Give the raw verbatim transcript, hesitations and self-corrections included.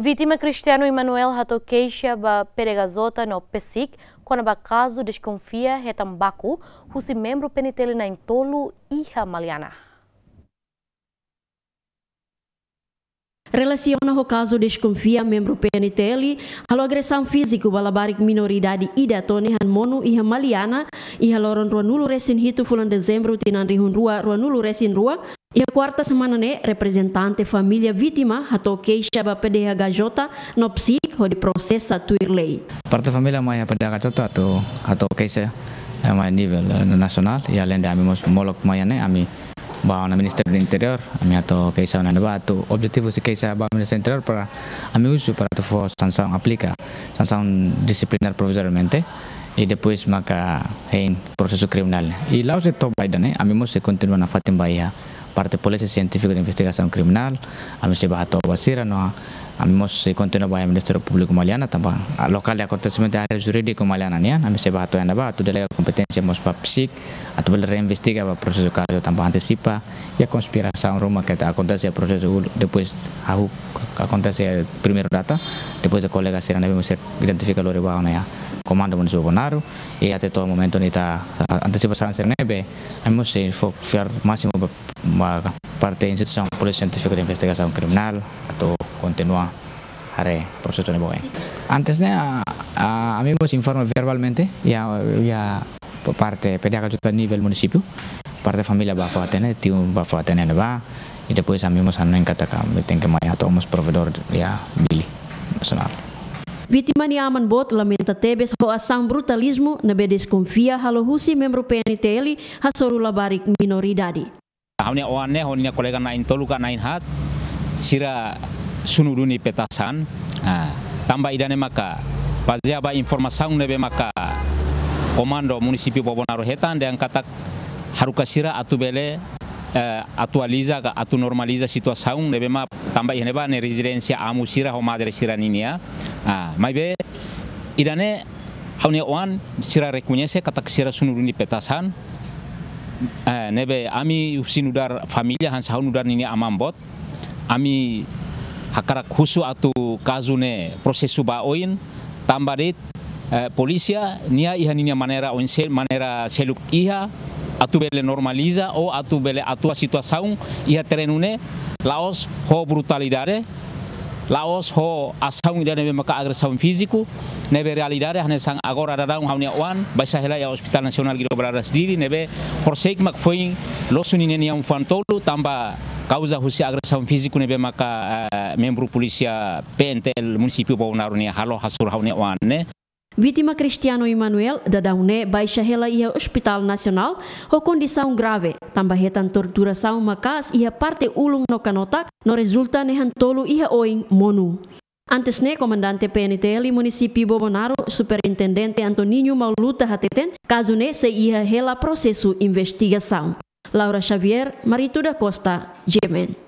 Vítima Cristiano Emanuel hato'o keixa ba P D H J no PCIC kona-ba kazu deskonfia hetan baku husi membru P N T L na'in-tolu iha Maliana. Relasiona ho kazu deskonfia membru P N T L halo agresaun fíziku ba labarik minoridade ida to'o nehan monu iha Maliana, iha loron ruanulu-resin-hitu fulan Dezembru tinan rihun rua ruanulu-resin-rua, iha kuarta semana ne'e, reprezentante família vítima hato'o keixa ba P D H J no PCIC hodi prosesa tuir lei. Parte família mai iha P D H J hato'o, hato'o keixa, eh, mai nivel, eh, nasionál, i aleinde ami mós molok mai iha ne'e, ami bá ona Ministériu Interiór, ami hato'o keixa ona ne'ebá, atu objetivu husi keixa ba Ministériu Interiór para ami husu para atu fó sansaun, aplika sansaun disiplinár provizoriamente, i depois maka hein prosesu kriminál. I la'ós de'it to'o ba ida-ne'e, ami mós sei kontinua nafatin ba iha parte Polísia Sientífika de Investigasaun Kriminál, ami sei bá hato'o ba sira no ami mós sei kontinua ba iha Ministériu Públiku Maliana, tanba, ah, lokál de akontesimentu, área jurídiku Maliana nian, ami sei bá hato'o iha ne'ebá, atu delega kompeténsia mós ba PCIC, atu bele reinvestiga ba prosesu kazu tanba antesipa iha konspirasaun ruma ke akontese prosesu ul-, depois hahú akontese primeiru data, depois de kolega sira ne'ebé mós identifika lori ba ona iha Komandu Munisípiu Bobonaro, i até to'o momentu ne'e ita antesipa sira ne'ebé, ami mós sei fó fiar másimu ba, ba parte instituisaun Polísia Sientífika de Investigasaun Kriminál atu kontinua haree prosesu ne'e ba oin. Antes ne'e, ah, ah, ami mós informa verbalmente iha, iha parte P D H J nivel munisípiu, parte família bá fó hatene, tiu bá fó hatene ne'ebá, i depois ami mós hanoin katak ami tenke mai hato'o mós provedór iha Dili nasionál. Vítima nia aman boot lamenta tebes ho asaun brutalizmu ne'ebé deskonfia halo husi membru P N T L hasoru labarik minoridade. Ha'u-nia oan ne'e ho ninia kolega na'in-tolu ka na'in-haat, sira sunu duni petasan. Ah, tanba ida-ne'e maka bazeia ba informasaun ne'ebé maka Komandu Munisípiu Bobonaro hetan dehan katak haruka sira atu bele, eh, atualiza ka atu normaliza situasaun ne'ebé mak tanba iha ne'ebá ne'e rezidénsia amu sira ho madre sira ninia. Ah, maibé ida-ne'e ha'u-nia oan sira rekoñese katak sira sunu duni petasan, eh, ne'ebé ami husi nu'udar família hanesan ha'u nu'udar ninia aman boot, ami hakarak husu atu kazu ne'e prosesu ba oin, tanba de'it, eh, polísia nia iha ninia maneira oin se-, maneira seluk iha atu bele normaliza ou atu bele atua situasaun iha terrenu ne'e, la'ós ho brutalidade, la'ós ho asaun ida ne'ebé maka agresaun fíziku, ne'ebé realidade hanesan agora daudaun ha'u-nia oan baixa hela iha Hospital Nasionál Guido Valadares Dili ne'ebé horisehik mak foin losu ninia nian fuan tolu tanba kauza husi agresaun fíziku ne'ebé maka, eh, membru polísia P N T L Munisípiu Bobonaro nia halo hasoru ha'u-nia oan ne'e. Vítima Cristiano Emanuel daudaun ne'e baixa hela iha Hospital Nasionál ho kondisaun grave, tanba hetan torturasaun maka'as iha parte ulun no kanotak, no rezulta nehan tolu iha oin monu. Antes ne'e, Komandante P N T L Munisípiu Bobonaro, Superintendente Antoninho Mauluta hateten, kazu ne'e sei iha hela prosesu investigasaun. Laura Xavier, Marito da Costa, G M N.